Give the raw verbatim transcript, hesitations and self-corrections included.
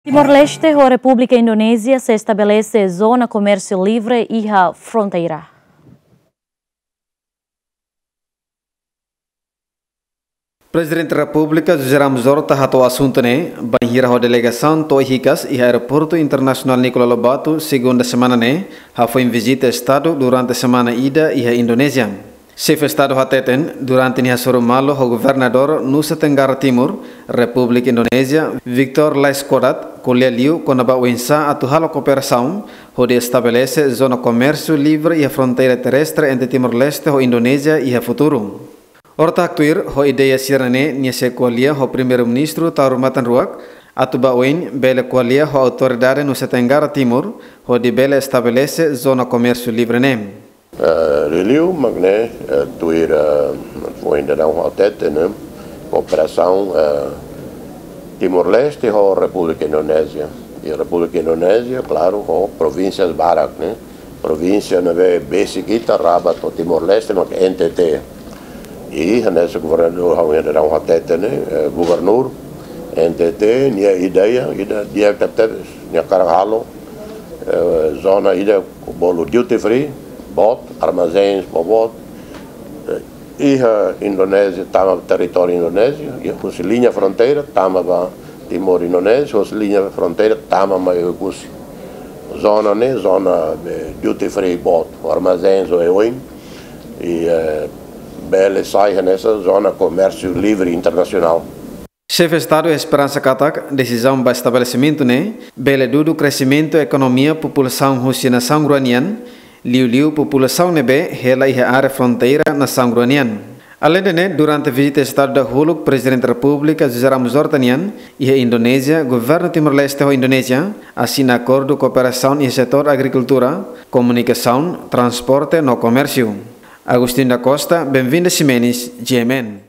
Timor-Leste ho Repúblika Indonézia sei estabelese zona komérsiu livre iha fronteira. Prezidente Repúblika José Ramos Horta hato'o asuntu ne'e bainhira ho delegasaun to'o hikas iha Aeroportu Internasionál Nicolau Lobato, segunda semana ne'e, hafoin vizita Estadu durante semana ida iha Indonézia. Xefe Estadu hateten, durante nia hasoru malu ho Governadór Nusa Tenggara Timur, Repúblika Indonézia, Victor Laiskodat, ko'alia liu kona-ba oinsá atu halo kooperasaun hodi estabelese zona komérsiu livre iha fronteira terrestre entre Timor-Leste ho Indonézia iha futuru. Horta haktuir ho ideia sira-ne'e, nia sei ko'alia ho Primeiru-Ministru Taur Matan Ruak, atu ba oin bele ko'alia ho autoridade Nusa Tenggara Timur hodi bele estabelese zona komérsiu livre ne'e. Eh, liuliu mak ne'e, eh, tuir, eh, foin daudaun ha'u hatete ne'e, kooperasaun, eh, Timor-Leste ho Repúblika Indonézia. I Repúblika Indonézia, klaru, ho provínsias barak ne'e. Provínsia ne'ebé besik ita, Rabat ho Timor-Leste, mak N T T. I hanesan Governadór ha'u daudaun hatete ne'e, eh, Gubernur N T T, nia ideia, ida di'ak tebes, nia hakarak halo, eh, zona ida bolu duty free, boot, armazéns ba boot, eh, iha Indonézia, tama territóriu Indonézia, iha husi liña fronteira, tama ba Timor Indonézia, husi liña fronteira, tama mai Oekusi. Zona ne'e, zona, eh, duty free boot, armazéns, oioin, i, eh, bele sai hanesan zona komérsiu livre internasionál. Xefe Estadu esperansa katak desizaun ba estabelesimentu ne'e bele dudu kresimentu ekonomia populasaun husi nasaun rua nian, liuliu populasaun ne'ebé hela iha área fronteira nasaun rua nian. Aleinde ne'e, durante vizita Estadu dahuluk Prezidente Repúblika José Ramos Horta nian iha Indonézia, Governu Timor-Leste ho Indonézia asina akordu kooperasaun iha setór agrikultura, komunikasaun, transporte no komérsiu. Agostinho da Costa, Benvinda Ximenes, G M N.